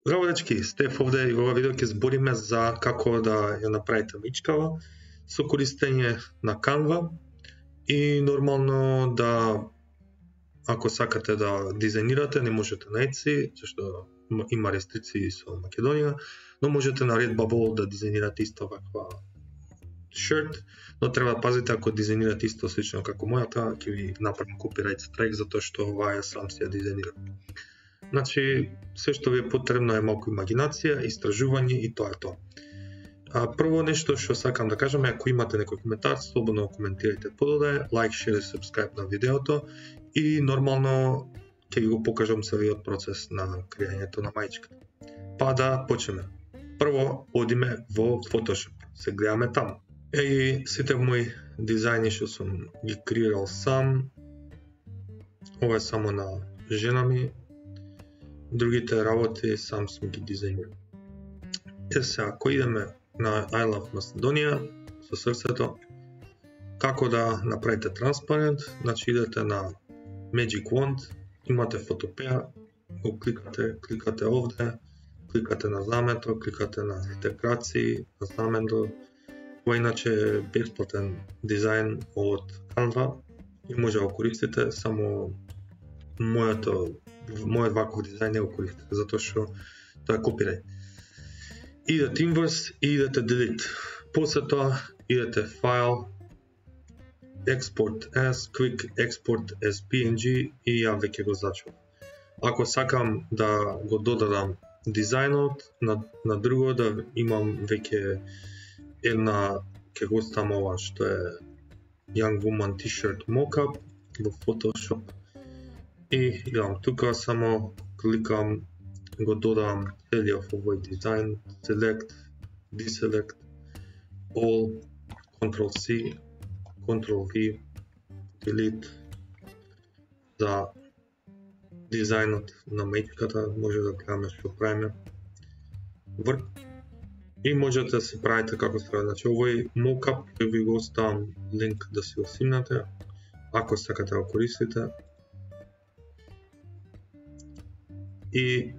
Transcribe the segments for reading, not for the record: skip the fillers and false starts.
Здраво дечки, Стеф овде и во ова видео ќе збориме за како да ја направите мечкава со користење на Canva и нормално да ако сакате да дизајнирате не можете на Etsy, зашто има рестрикции со Македонија, но можете на Redbubble да дизајнирате исто ваква шерт, но треба да пазите ако дизајнирате исто слично како мојата, ќе ви направам copyright strike затоа што ова ја сам си ја дизајнирам. Значи, се што ви е потребно е малку имагинација, истражување и тоа е тоа. Прво нешто што сакам да кажам е ако имате некој коментар, слободно коментирајте подоле, лайк, шер и сабскрајб на видеото и нормално ќе ви го покажам целиот процес на креањето на мајчката. Па да почнеме. Прво одиме во Photoshop. Се гледаме таму. И сите мои дизајни што сум ги креирал сам. Ова е само на жена ми. Другите работи сам сум ги дизајнирал. Сега, ако идеме на I Love Macedonia со срцето, како да направите транспарент, значи идете на Magic Wand, имате фотопеја, го кликате овде, кликате на знамето, кликате на интеграции, на знамето. Ова иначе е бесплатен дизајн од Canva и може да го користите, само мојот ваков дизајн не го користите, затоа што тоа е copyright. Идете Inverse и идете Delete. После тоа идете File, Export as, Quick Export as PNG и ја веќе го зачувам. Ако сакам да го додадам дизајнот на друго, да имам веќе една, ќе го ставам ова што е Young Woman T-shirt Mockup во Photoshop и идам тука, само кликам, го додавам целиот овој дизајн, Select, Deselect, All, Ctrl-C, Ctrl-V, Delete за дизајнот на мечката, може да гледаме што правиме врт и можете да се правите како се прави. Значи овој mockup ќе ви го оставам линк да си го симнате ако сакате да го користите и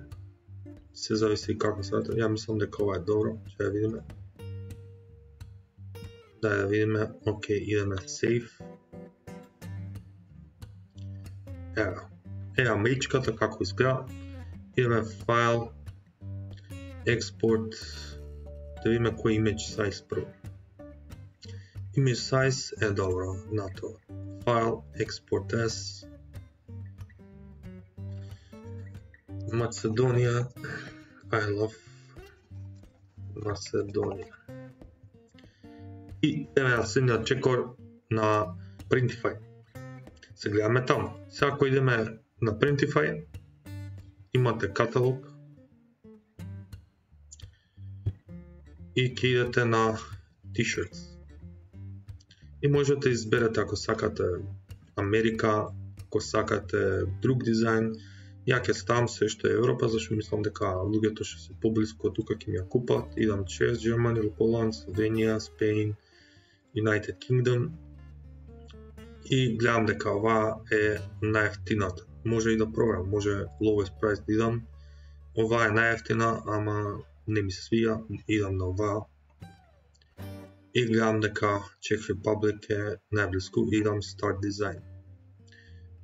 се зависи како се прави. Ја мислам дека ова е добро, ќе ја видиме. Да ја видиме, окей, идеме Save. Ева мечката како изгледа. Идеме File, Export, да видиме кој image size прво. Image size е добро на тоа. File, Export as, Macedonia, I Love Macedonia. И идеме на следниот чекор на Printify. Се гледаме таму. Сега ако идеме на Printify, имате каталог и ќе идете на T-shirts. И можете да изберете ако сакате Америка, ако сакате друг дизајн. Ја ќе ставам се што е Европа, зашто мислам дека луѓето што се поблиску тука ќе ми ја купат. Идам через Germany, Poland, Slovenia, Spain, United Kingdom и гледам дека ова е најефтината. Може и да проверам, може lowest price да идам. Ова е најефтина, ама не ми се свија, идам на ова. И гледам дека Czech Republic е најблиску, идам Start Design.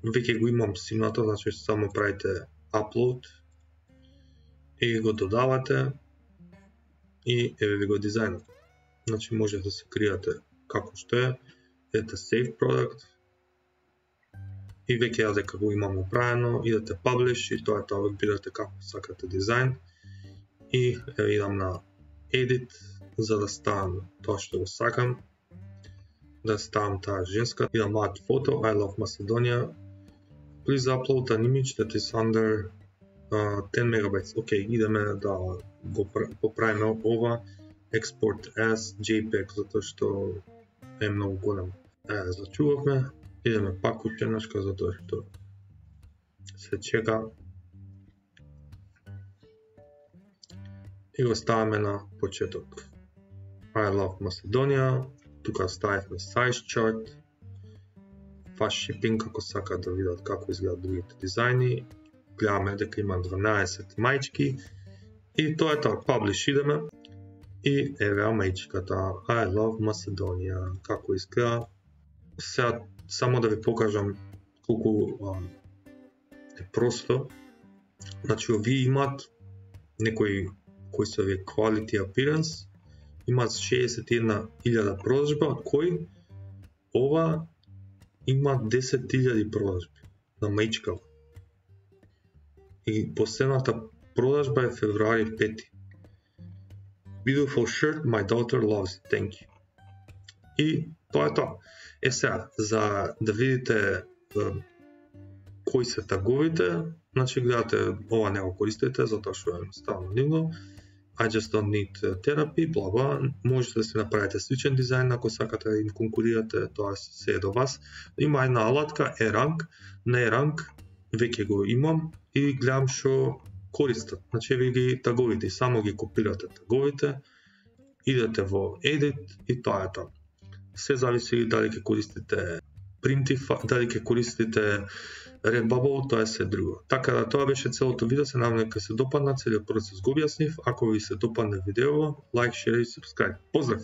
Веќе го имам симнато, значи само правите upload и го додавате и еве ви го дизајнот. Значи може да се креирате како што е, ете Save Product и веќе ја дека го имам управено, идете Publish и тоа е тоа, одбирате како сакате дизајн и идам на Edit за да ставам тоа што го сакам, да ставам таа женска, идам Add Photo, I Love Macedonia. Please upload an image that is under 10 megabytes. Окей, идеме да го поправиме ова. Export as JPEG, затоа што е многу голем. Зачувавме. Идеме пак ушенашка, затоа што се чека. И го ставаме на почеток. I Love Macedonia. Тука ставивме Size Chart. Fast Shipping, ако сакат да видат како изгледат другите дизајни. Гледаме дека има 12 мајчки И тоа е тоа, publish идеме и еве амејчката I love Macedonia, како изгледа. Сега само да ви покажам колку е просто. Значи овие имаат некои кои се овие quality appearance, имаат 61.000 продажба, од кои ова има 10.000 продажби на мејчкава. И последната продажба е февруари 5. Beautiful shirt, my daughter loves it, thank you. И тоа е тоа. Сега, за да видите кои се таговите, значи гледате, ова не го користите, затоа што е ставно нивно. I just don't need therapy, бла бла. Можете да се направите сличен дизајн ако сакате да им конкурирате, тоа се е до вас. Има една алатка E-Rank, на E-Rank веќе го имам и гледам што користат. Значи ви ги таговите, само ги копирате таговите, идете во Edit и тоа е тоа. Се зависи дали ќе користите Printify, дали ќе користите Redbubble, тоа е се друго. Така да тоа беше целото видео, се надевам дека се допадна, целиот процес го објаснив. Ако ви се допадне видео, лайк, шер и subscribe. Поздрав!